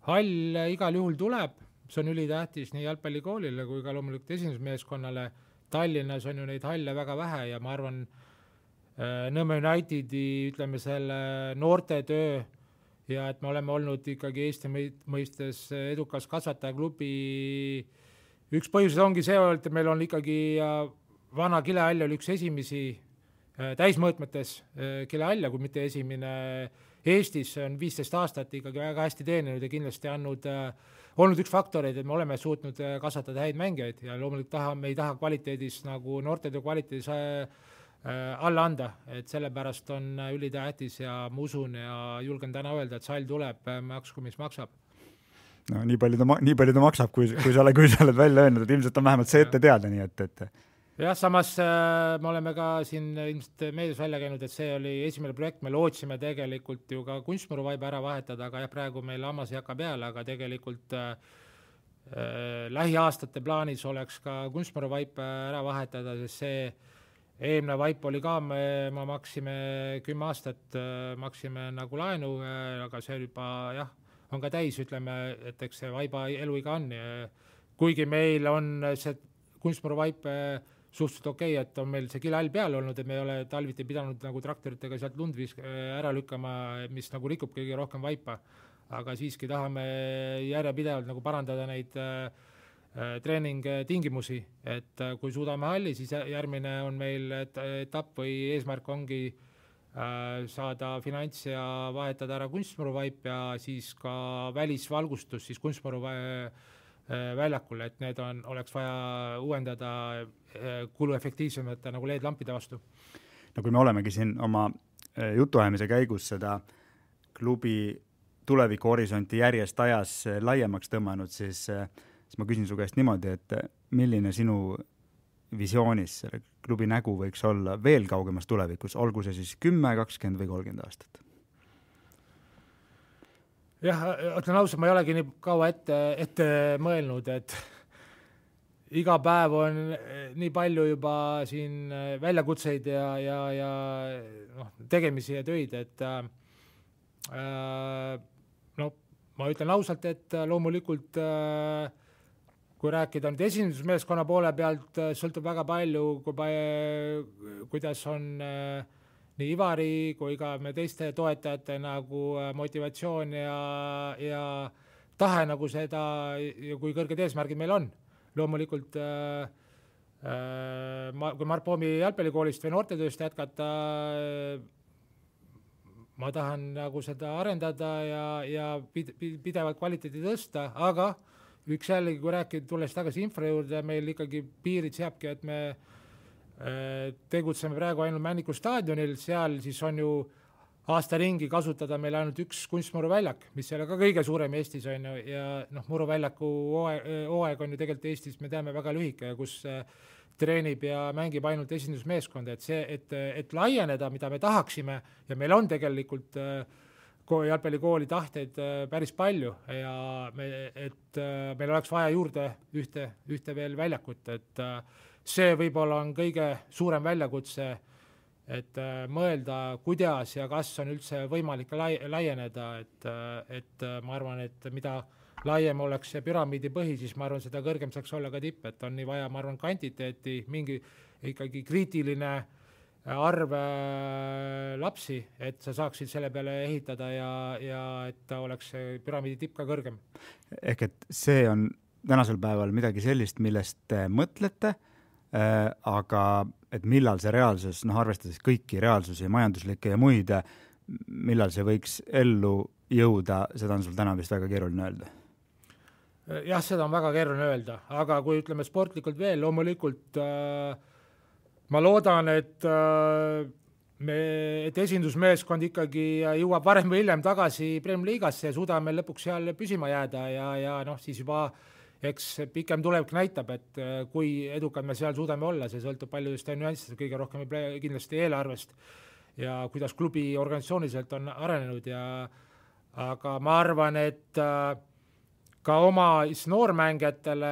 Hall igal juhul tuleb, see on ülitähtis nii jalgpallikoolile kui ka loomulikult esindusmeeskonnale. Tallinnas on ju neid halle väga vähe ja ma arvan, Nõmme Unitedi, ütleme selle noorte töö ja et me oleme olnud ikkagi Eesti mõistes edukas kasvatajaklubi. Üks põhjused ongi see, et meil on ikkagi vana kilehall oli üks esimesi täismõõtmetes kilehall, kui mitte esimene Eestis, on viisteist aastat ikkagi väga hästi teeninud ja kindlasti andnud, olnud üks faktoreid, et me oleme suutnud kasvatada häid mängijaid ja loomulikult taha, me ei taha kvaliteedis nagu noortetöö kvaliteedis alla anda, et sellepärast on ülitähtis ja ma usun ja julgen täna öelda, et sall tuleb, maksku, mis maksab. No nii palju ta, nii palju ta maksab, kui, kui, sa oled, kui sa oled välja öelnud, et ilmselt on vähemalt see ette teada, nii et, et jah, samas äh, me oleme ka siin ilmselt meedias välja käinud, et see oli esimene projekt, me lootsime tegelikult ju ka kunstmuruvaiba ära vahetada, aga jah, praegu meil hammas ei hakka peale, aga tegelikult äh, äh, lähiaastate plaanis oleks ka kunstmuruvaip ära vahetada, sest see eelmine vaip oli ka, me, me maksime kümme aastat, äh, maksime nagu laenu, äh, aga see juba jah, on ka täis, ütleme, et eks see vaiba eluiga on. Kuigi meil on see kunstmuruvaip äh, suhteliselt okei, okay, et on meil see kilehall peal olnud, et me ei ole talviti pidanud nagu traktoritega sealt lundvis ära lükkama, mis nagu rikub kõige rohkem vaipa. Aga siiski tahame järjepidevalt nagu parandada neid äh, treening tingimusi, et äh, kui suudame halli, siis järgmine on meil et, etapp või eesmärk ongi äh, saada finants ja vahetada ära kunstmuruvaip ja siis ka välisvalgustus, siis kunstmuruvaip väljakul, et need on, oleks vaja uuendada kuluefektiivsemate nagu L E D-lampide vastu. No kui me olemegi siin oma jutuajamise käigus seda klubi tuleviku horisonti järjest ajas laiemaks tõmmanud, siis, siis ma küsin su käest niimoodi, et milline sinu visioonis selle klubi nägu võiks olla veel kaugemas tulevikus, olgu see siis kümme, kakskümmend või kolmkümmend aastat? Jah, ütlen ausalt, ma ei olegi nii kaua ette, ette mõelnud, et iga päev on nii palju juba siin väljakutseid ja, ja, ja noh, tegemisi ja töid, et äh, no, ma ütlen ausalt, et loomulikult äh, kui rääkida nüüd esindusmeeskonna poole pealt, sõltub väga palju, kui, kuidas on äh, nii Ivari kui ka me teiste toetajate nagu motivatsioon ja, ja tahe nagu seda ja kui kõrged eesmärgid meil on. Loomulikult äh, äh, kui Mart Poomi jalgpallikoolist või noortetööst jätkata, ma tahan nagu seda arendada ja, ja pidevalt kvaliteedi tõsta, aga üks jällegi, kui rääkida, tulles tagasi infra juurde, meil ikkagi piirid seabki, et me tegutseme praegu ainult Männiku staadionil, seal siis on ju aasta ringi kasutada meil ainult üks kunstmuruväljak, mis ei ole ka kõige suurem Eestis on ju, ja noh, muruväljaku hooaeg on ju tegelikult Eestis, me teame, väga lühike, kus treenib ja mängib ainult esindusmeeskonda, et see, et, et laieneda, mida me tahaksime ja meil on tegelikult jalgpallikooli tahteid päris palju ja me, et meil oleks vaja juurde ühte, ühte veel väljakut, et see võib-olla on kõige suurem väljakutse, et mõelda, kuidas ja kas on üldse võimalik lai, laieneda, et, et ma arvan, et mida laiem oleks see püramiidi põhi, siis ma arvan, seda kõrgem saaks olla ka tipp, et on nii vaja, ma arvan, kvantiteeti, mingi ikkagi kriitiline arv lapsi, et sa saaksid selle peale ehitada ja, ja et ta oleks püramiidi tipp ka kõrgem. Ehk et see on tänasel päeval midagi sellist, millest te mõtlete, äh, aga et millal see reaalsus, noh arvestades kõiki reaalsusi, majanduslikke ja muid, millal see võiks ellu jõuda, seda on sul täna vist väga keeruline öelda. Jah, seda on väga keeruline öelda, aga kui ütleme sportlikult veel, loomulikult äh, ma loodan, et, äh, me, et esindusmeeskond ikkagi jõuab varem või hiljem tagasi Premier Liigasse ja suudame lõpuks seal püsima jääda ja, ja noh, siis juba eks pikem tulevik näitab, et äh, kui edukad me seal suudame olla, see sõltub paljudest nüanssist, kõige rohkem kindlasti eelarvest ja kuidas klubi organisatsiooniliselt on arenenud ja aga ma arvan, et äh, ka oma noormängijatele,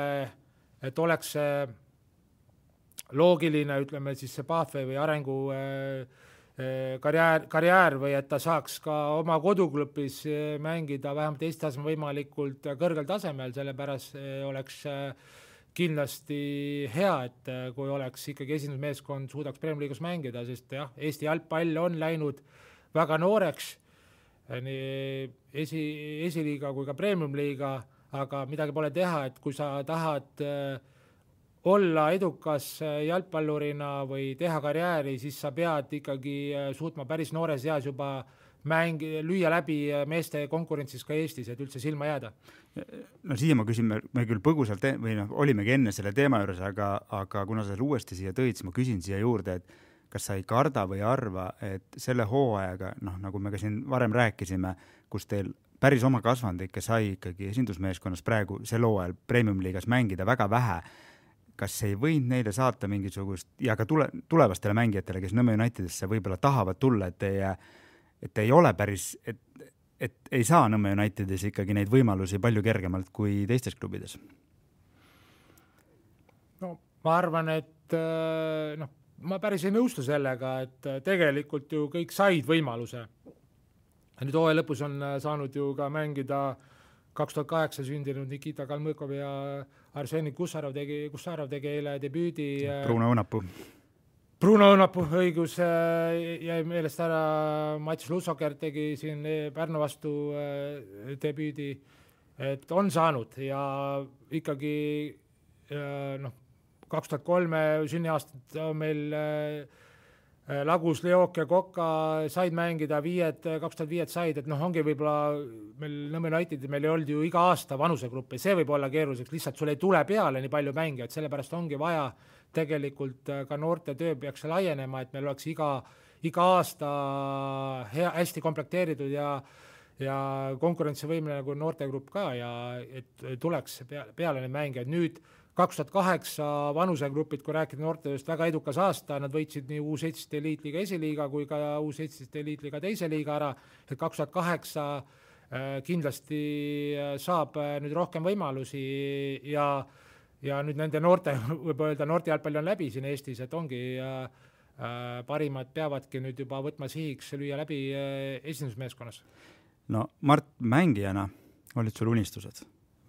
et oleks see loogiline, ütleme siis see pathway või arengu karjäär, karjäär või et ta saaks ka oma koduklubis mängida vähemalt Eesti tasemel võimalikult kõrgel tasemel, sellepärast oleks kindlasti hea, et kui oleks ikkagi esindusmeeskond suudaks Premier Liigas mängida, sest jah, Eesti jalgpall on läinud väga nooreks, nii esi, esiliiga kui ka Premium liiga, aga midagi pole teha, et kui sa tahad olla edukas jalgpallurina või teha karjääri, siis sa pead ikkagi suutma päris noores eas juba mäng, lüüa läbi meeste konkurentsis ka Eestis, et üldse silma jääda. No siia ma küsin, me küll põgusalt või noh, olimegi enne selle teema juures, aga, aga kuna sa uuesti siia tõid, siis ma küsin siia juurde, et kas sa ei karda või arva, et selle hooajaga, noh, nagu me ka siin varem rääkisime, kus teil päris oma kasvandikke sai ikkagi esindusmeeskonnas praegu sel hooajal Premium liigas mängida väga vähe, kas ei võinud neile saata mingisugust ja ka tule, tulevastele mängijatele, kes Nõmme Unitedisse võib-olla tahavad tulla, et ei, et ei ole päris, et, et ei saa Nõmme Unitedis ikkagi neid võimalusi palju kergemalt kui teistes klubides? No ma arvan, et noh, ma päris ei nõustu sellega, et tegelikult ju kõik said võimaluse. Nüüd hooaja lõpus on saanud ju ka mängida kaks tuhat kaheksa sündinud Nikita Kalmõkov ja Arseni Kussarov tegi, Kussarov tegi eile debüüdi. Bruno Õunapuu. Bruno Õunapuu, õigus, jäi meelest ära, Mats Lussoker tegi siin Pärnu vastu debüüdi, et on saanud ja ikkagi noh, kaks tuhat kolme sünniaastat on meil Lagus, Leok ja Koka said mängida, viied, kaks tuhat viied said, et noh, ongi võib-olla meil Nõmme United, meil ei olnud ju iga aasta vanusegruppi, see võib olla keeruliseks, lihtsalt sul ei tule peale nii palju mänge, et sellepärast ongi vaja tegelikult ka noorte töö peaks laienema, et meil oleks iga, iga aasta hea, hästi komplekteeritud ja, ja konkurentsivõimeline nagu noortegrupp ka ja et tuleks peale, peale neid mänge, et nüüd kaks tuhat kaheksa vanusegrupid, kui rääkida noortetööst, väga edukas aasta, nad võitsid nii U seitseteist eliitliiga esiliiga kui ka U seitseteist eliitliiga teise liiga ära, et kaks tuhat kaheksa kindlasti saab nüüd rohkem võimalusi ja, ja nüüd nende noorte, võib öelda, noorte jalgpalli on läbi siin Eestis, et ongi parimad peavadki nüüd juba võtma sihiks lüüa läbi esindusmeeskonnas. No Mart, mängijana olid sul unistused,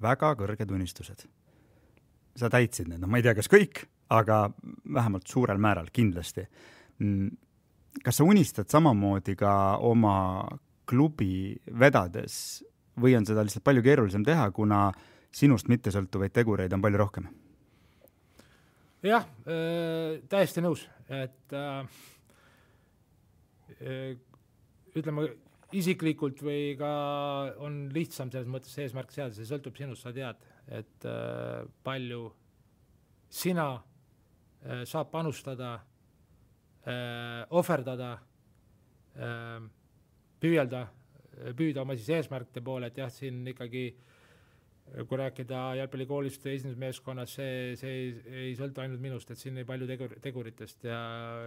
väga kõrged unistused. Sa täitsid need, no ma ei tea, kas kõik, aga vähemalt suurel määral kindlasti. Kas sa unistad samamoodi ka oma klubi vedades või on seda lihtsalt palju keerulisem teha, kuna sinust mittesõltuvaid tegureid on palju rohkem? Jah, täiesti nõus, et äh, ütleme isiklikult või ka on lihtsam selles mõttes eesmärk seada, see sõltub sinust, sa tead, et äh, palju sina äh, saab panustada, äh, ohverdada, püüelda, püüda oma siis eesmärkide poole, et jah, siin ikkagi kui rääkida jalgpallikoolist esindusmeeskonnas, see, see ei, ei sõltu ainult minust, et siin ei palju tegur, teguritest ja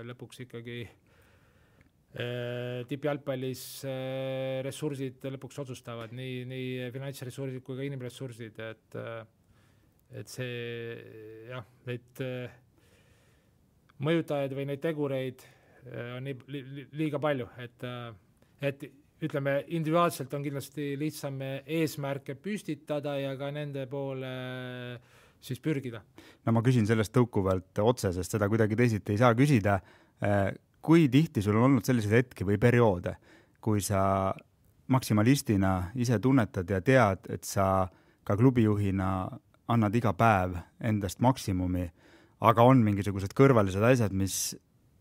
lõpuks ikkagi äh, tippjalgpallis äh, ressursid lõpuks otsustavad, nii, nii finantsressursid kui ka inimressursid, et, äh, et see jah, neid äh, mõjutajaid või neid tegureid äh, on nii, li, liiga palju, et, äh, et ütleme, individuaalselt on kindlasti lihtsam eesmärke püstitada ja ka nende poole siis pürgida. No ma küsin sellest tõukuvalt otse, sest seda kuidagi teisiti ei saa küsida. Kui tihti sul on olnud selliseid hetki või perioode, kui sa maksimalistina ise tunnetad ja tead, et sa ka klubijuhina annad iga päev endast maksimumi, aga on mingisugused kõrvalised asjad, mis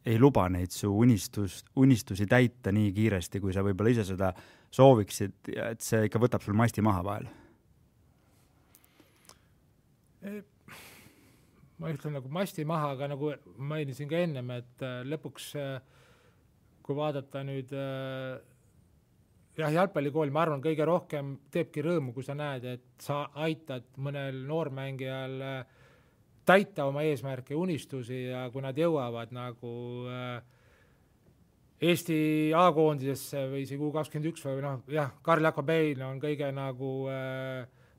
ei luba neid su unistus, unistusi täita nii kiiresti, kui sa võib-olla ise seda sooviksid, ja et see ikka võtab sul masti maha vahel? Ma ütlen nagu masti maha, aga nagu mainisin ka ennem, et lõpuks, kui vaadata nüüd jah, jalgpallikool, ma arvan, kõige rohkem teebki rõõmu, kui sa näed, et sa aitad mõnel noormängijal täita oma eesmärke ja unistusi ja kui nad jõuavad nagu Eesti A-koondisesse või isegi U kakskümmend üks või noh, jah, Karl Jakobein on kõige nagu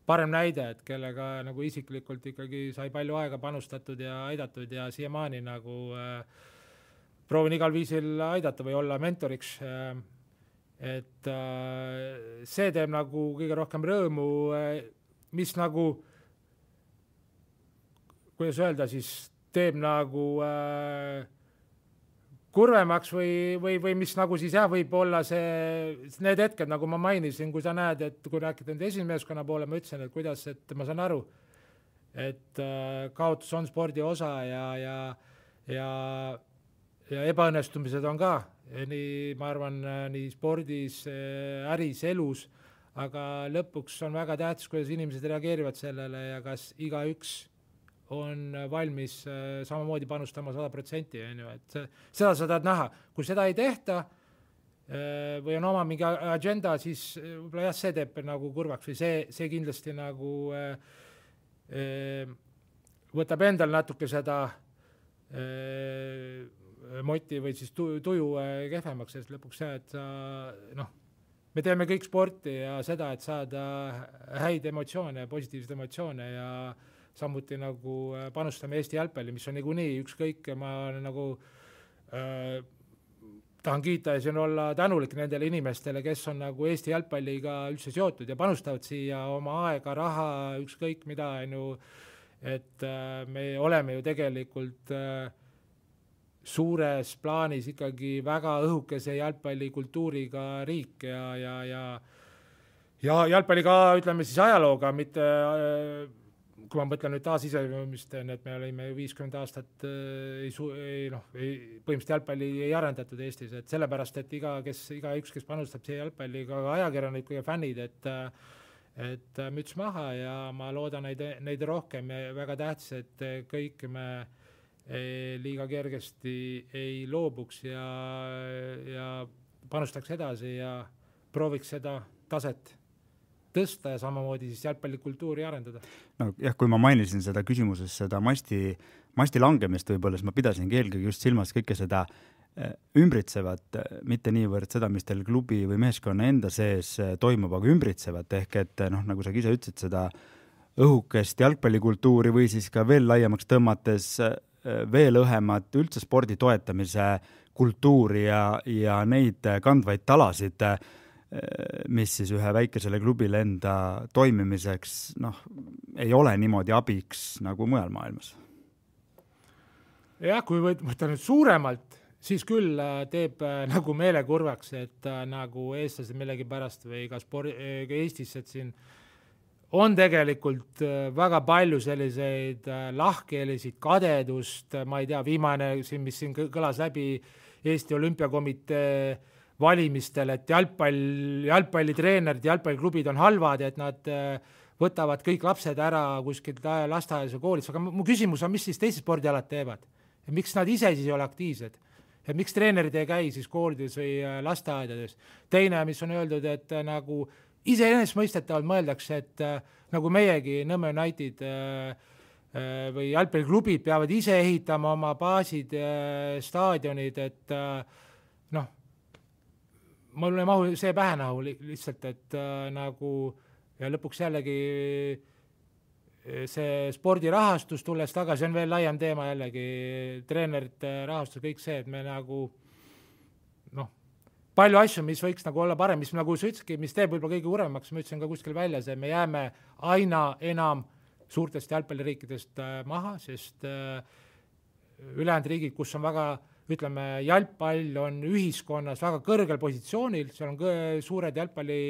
parem näide, et kellega nagu isiklikult ikkagi sai palju aega panustatud ja aidatud ja siiamaani nagu proovin igal viisil aidata või olla mentoriks. Et see teeb nagu kõige rohkem rõõmu, mis nagu kuidas öelda, siis teeb nagu äh, kurvemaks või, või, või mis nagu siis jah, võib olla see, need hetked, nagu ma mainisin, kui sa näed, et kui rääkida nüüd esimesmeeskonna poole, ma ütlesin, et kuidas, et ma saan aru, et äh, kaotus on spordi osa ja, ja, ja, ja ebaõnnestumised on ka, nii, ma arvan, nii spordis, äris, elus, aga lõpuks on väga tähtis, kuidas inimesed reageerivad sellele ja kas igaüks on valmis samamoodi panustama sada protsenti, et seda sa tahad näha. Kui seda ei tehta või on oma mingi agenda, siis võib-olla jah, see teeb nagu kurvaks või see, see kindlasti nagu võtab endal natuke seda moti või siis tuju kehvemaks, sest lõpuks see, et sa, noh, me teeme kõik sporti ja seda, et saada häid emotsioone, positiivseid emotsioone ja samuti nagu panustame Eesti jalgpalli, mis on nagu nii ükskõik, ma nagu äh, tahan kiita ja siin olla tänulik nendele inimestele, kes on nagu Eesti jalgpalliga üldse seotud ja panustavad siia oma aega, raha, ükskõik mida, ju, et äh, me oleme ju tegelikult äh, suures plaanis ikkagi väga õhukese jalgpallikultuuriga riik ja, ja, ja, ja jalgpalliga, ütleme siis ajalooga, mitte äh, kui ma mõtlen nüüd taasiseseisvumist, et me olime viiskümmend aastat ei, ei, noh, ei, põhimõtteliselt jalgpalli ei arendatud Eestis, et sellepärast, et iga, kes, iga üks, kes panustab siia jalgpalli, ka ajakirjanikud ja fännid, et, et müts maha ja ma loodan neid, neid rohkem ja väga tähtis, et kõik me liiga kergesti ei loobuks ja, ja panustaks edasi ja prooviks seda taset tõsta ja samamoodi siis jalgpallikultuuri arendada. No jah, kui ma mainisin seda küsimuses, seda masti, masti langemist võib-olla, siis ma pidasin eelkõige just silmas kõike seda ümbritsevat, mitte niivõrd seda, mis teil klubi või meeskonna enda sees toimub, aga ümbritsevat ehk et noh, nagu sa ise ütlesid, seda õhukest jalgpallikultuuri või siis ka veel laiemaks tõmmates veel õhemat üldse spordi toetamise kultuuri ja, ja neid kandvaid talasid, mis siis ühe väikesele klubile enda toimimiseks noh, ei ole niimoodi abiks nagu mujal maailmas. Jah, kui võtta nüüd suuremalt, siis küll teeb nagu meelekurvaks, et nagu eestlased millegi pärast või ka, spordi, ka Eestis, et siin on tegelikult väga palju selliseid lahkeelisid, kadedust, ma ei tea, viimane, mis siin kõlas läbi Eesti Olümpiakomitee valimistel, et jalgpall, jalgpallitreenerid, jalgpalliklubid on halvad, et nad võtavad kõik lapsed ära kuskilt lasteaias ja koolis, aga mu küsimus on, mis siis teised spordialad teevad? Ja miks nad ise siis ei ole aktiivsed? Ja miks treenerid ei käi siis koolides või lasteaedades? Teine, mis on öeldud, et nagu iseenesestmõistetavalt mõeldakse, et äh, nagu meiegi Nõmme United äh, äh, või jalgpalliklubid peavad ise ehitama oma baasid, äh, staadionid, et äh, noh, mul ei mahu see pähe nahu lihtsalt, et äh, nagu ja lõpuks jällegi see spordirahastus tulles tagasi on veel laiem teema jällegi, treenerite rahastus, kõik see, et me nagu noh, palju asju, mis võiks nagu olla parem, mis nagu sa ütlesidki, mis teeb võib-olla kõige uremaks, ma ütlesin ka kuskil välja, see me jääme aina enam suurtest jalgpalliriikidest maha, sest ülejäänud riigid, kus on väga, ütleme, jalgpall on ühiskonnas väga kõrgel positsioonil, seal on suured jalgpalli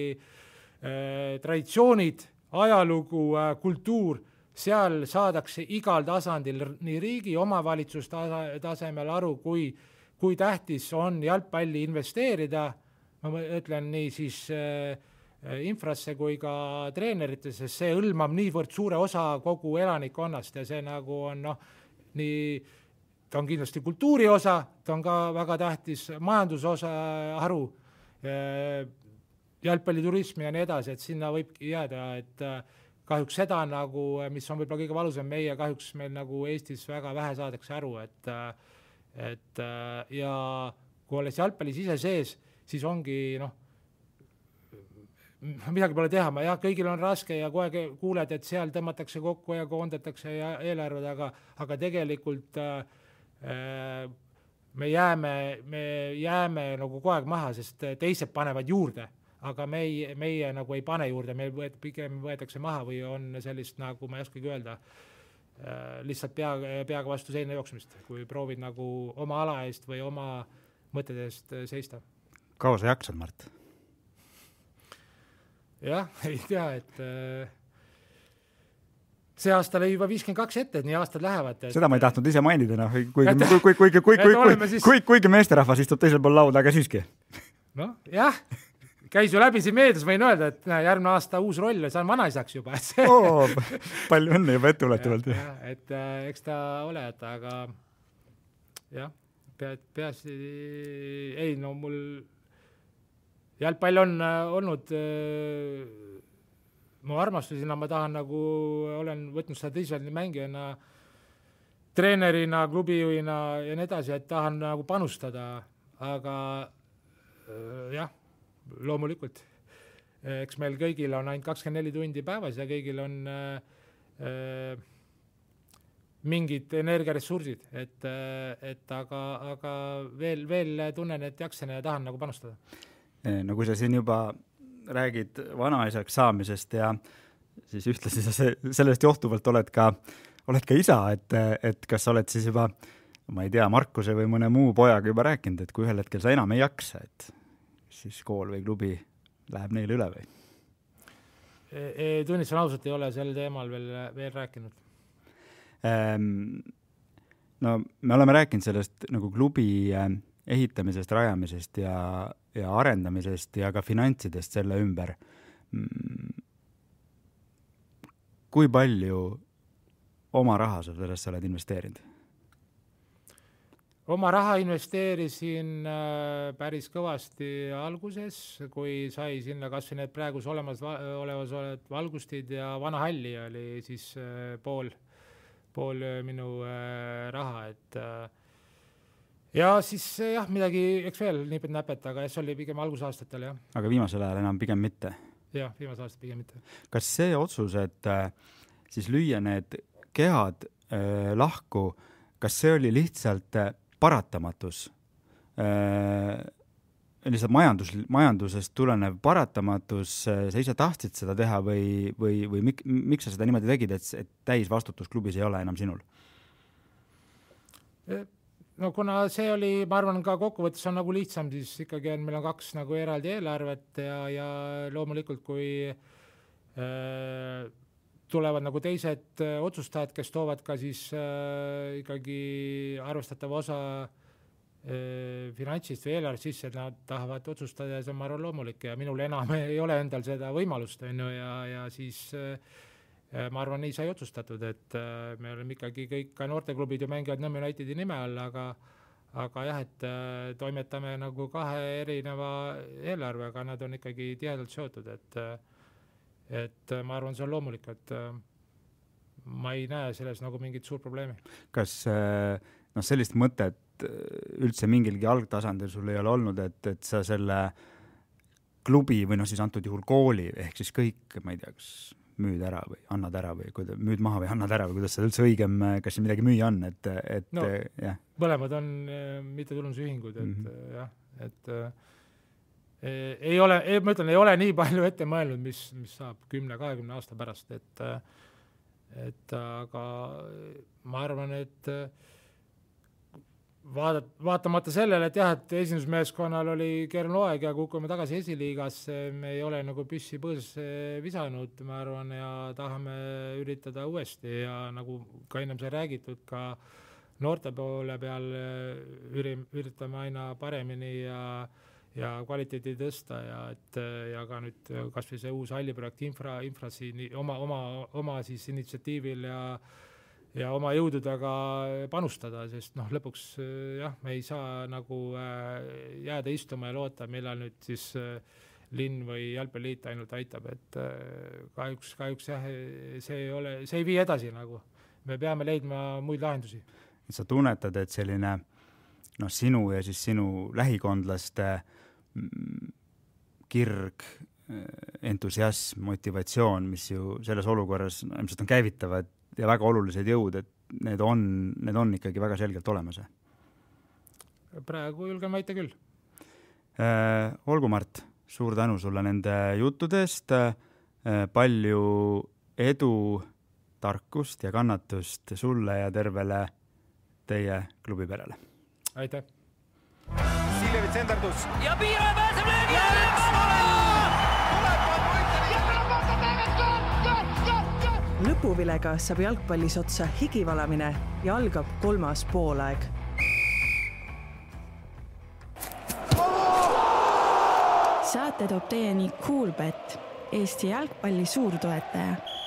traditsioonid, ajalugu, kultuur, seal saadakse igal tasandil nii riigi omavalitsus tasemel aru, kui, kui tähtis on jalgpalli investeerida, ma ütlen nii siis äh, infrasse kui ka treeneritesse, see hõlmab niivõrd suure osa kogu elanikkonnast ja see nagu on noh, nii, ta on kindlasti kultuuri osa, ta on ka väga tähtis majandusosa haru, äh, jalgpalliturismi ja nii edasi, et sinna võibki jääda, et kahjuks seda nagu, mis on võib-olla kõige valusam meie, kahjuks meil nagu Eestis väga vähe saadakse aru, et, et ja kui olles jalgpallis ise sees, siis ongi noh, midagi pole teha, ma jah, kõigil on raske ja kohe kuuled, et seal tõmmatakse kokku ja koondatakse ja eelarved, aga, aga tegelikult äh, me jääme, me jääme nagu kogu aeg maha, sest teised panevad juurde. Aga meie, meie nagu ei pane juurde, meil võet, pigem võetakse maha või on sellist, nagu ma ei oskagi öelda, lihtsalt pea, peaga vastu seina jooksmist, kui proovid nagu oma ala eest või oma mõtete eest seista. Kaua sa jaksad, Mart? Jah, ei tea, et see aasta lõi juba viiskümmend kaks ette, et nii aastad lähevad. Et... Seda ma ei tahtnud ise mainida, no, kuigi, kuigi, kuigi, kuigi, kuigi, siis... kuigi, kuigi meesterahvas istub teisel pool lauda, aga siiski. No, jah. Käis ju läbi siin meedias, võin öelda, et järgmine aasta uus roll, saan vanaisaks juba. Oo, palju õnne juba ette uletavalt. Ja, et äh, eks ta ole, et aga jah, pead, peas, ei, no mul jalgpall on äh, olnud äh, mu armastusina, ma tahan nagu, olen võtnud seda tõsiselt mängijana, treenerina, klubijuina ja nii edasi, et tahan nagu panustada, aga äh, jah, loomulikult. Eks meil kõigil on ainult kakskümmend neli tundi päevas ja kõigil on äh, mingid energiaressursid, et, et aga, aga veel, veel tunnen, et jaksen ja tahan nagu panustada. No kui sa siin juba räägid vanaisaks saamisest ja siis ühtlasi sa sellest johtuvalt oled ka, oled ka isa, et, et kas sa oled siis juba, ma ei tea, Markuse või mõne muu pojaga juba rääkinud, et kui ühel hetkel sa enam ei jaksa, et siis kool või klubi läheb neile üle või? E, e, tunnistan ausalt, ei ole sel teemal veel, veel rääkinud. Ähm, no me oleme rääkinud sellest nagu klubi ehitamisest, rajamisest ja, ja arendamisest ja ka finantsidest selle ümber. Kui palju oma raha sa sellesse oled investeerinud? Oma raha investeerisin päris kõvasti alguses, kui sai sinna kas või need praegus olemas, olevas valgustid ja vana halli oli siis pool, pool minu raha. Et ja siis jah, midagi, eks veel nipet näpet, aga see oli pigem algusaastatel, jah. Aga viimasel ajal enam pigem mitte? Jah, viimasel aastal pigem mitte. Kas see otsus, et siis lüüa need kehad äh, lahku, kas see oli lihtsalt paratamatus, äh, lihtsalt majandus, majandusest tulenev paratamatus, sa ise tahtsid seda teha või, või, või mik, miks sa seda niimoodi tegid, et, et täis vastutus klubis ei ole enam sinul? No kuna see oli, ma arvan, ka kokkuvõttes on nagu lihtsam, siis ikkagi on, meil on kaks nagu eraldi eelarvet ja, ja loomulikult kui äh, tulevad nagu teised otsustajad, kes toovad ka siis äh, ikkagi arvestatava osa äh, finantsist või eelarvest sisse, et nad tahavad otsustada ja see on, ma arvan, loomulik ja minul enam ei ole endal seda võimalust enne, ja, ja siis äh, ma arvan, nii sai otsustatud, et äh, me oleme ikkagi kõik, ka noorteklubid ju mängivad Nõmme Unitedi nime all, aga, aga jah, et toimetame nagu kahe erineva eelarvega, nad on ikkagi tihedalt seotud, et, et ma arvan, see on loomulik, et ma ei näe selles nagu mingit suur probleemi. Kas no, sellist mõtet üldse mingilgi algtasandil sul ei ole olnud, et, et sa selle klubi või noh, siis antud juhul kooli, ehk siis kõik, ma ei tea, kas müüd ära või annad ära või kuida, müüd maha või annad ära või kuidas seda üldse õigem, kas siin midagi müüa on, et, et no, jah. Mõlemad on mittetulundusühingud, et mm-hmm. jah, et e, ei ole, ma ütlen, ei ole nii palju ette mõelnud, mis, mis saab kümne kahekümne aasta pärast, et, et aga ma arvan, et Vaadat, vaatamata sellele, et jah, et esindusmeeskonnal oli keeruline hooaeg ja kukume tagasi esiliigasse, me ei ole nagu püssi põõsasse visanud, ma arvan, ja tahame üritada uuesti ja nagu ka ennem sai räägitud, ka noorte poole peal üritame aina paremini ja, ja kvaliteedi tõsta ja, et, ja ka nüüd kas või see uus halliprojekt infra, infra siin oma, oma, oma siis initsiatiivil ja ja oma jõududega panustada, sest noh, lõpuks jah, me ei saa nagu jääda istuma ja loota, millal nüüd siis linn või jalgpalliliit ainult aitab, et kahjuks, kahjuks jah, see ei ole, see ei vii edasi nagu. Me peame leidma muid lahendusi. Sa tunnetad, et selline noh, sinu ja siis sinu lähikondlaste kirg, entusiasm, motivatsioon, mis ju selles olukorras no, ilmselt on käivitavad ja väga olulised jõud, et need on, need on ikkagi väga selgelt olemas. Praegu julgen väita küll. Äh, olgu, Mart, suur tänu sulle nende juttudest, äh, palju edu, tarkust ja kannatust sulle ja tervele teie klubiperele. Aitäh! Siljevits endardus. Ja Piire pääseb löögi ja lõpuvilega saab jalgpallis otsa higivalamine ja algab kolmas poolaeg. Saate toob teieni Coolbet, Eesti jalgpalli suurtoetaja.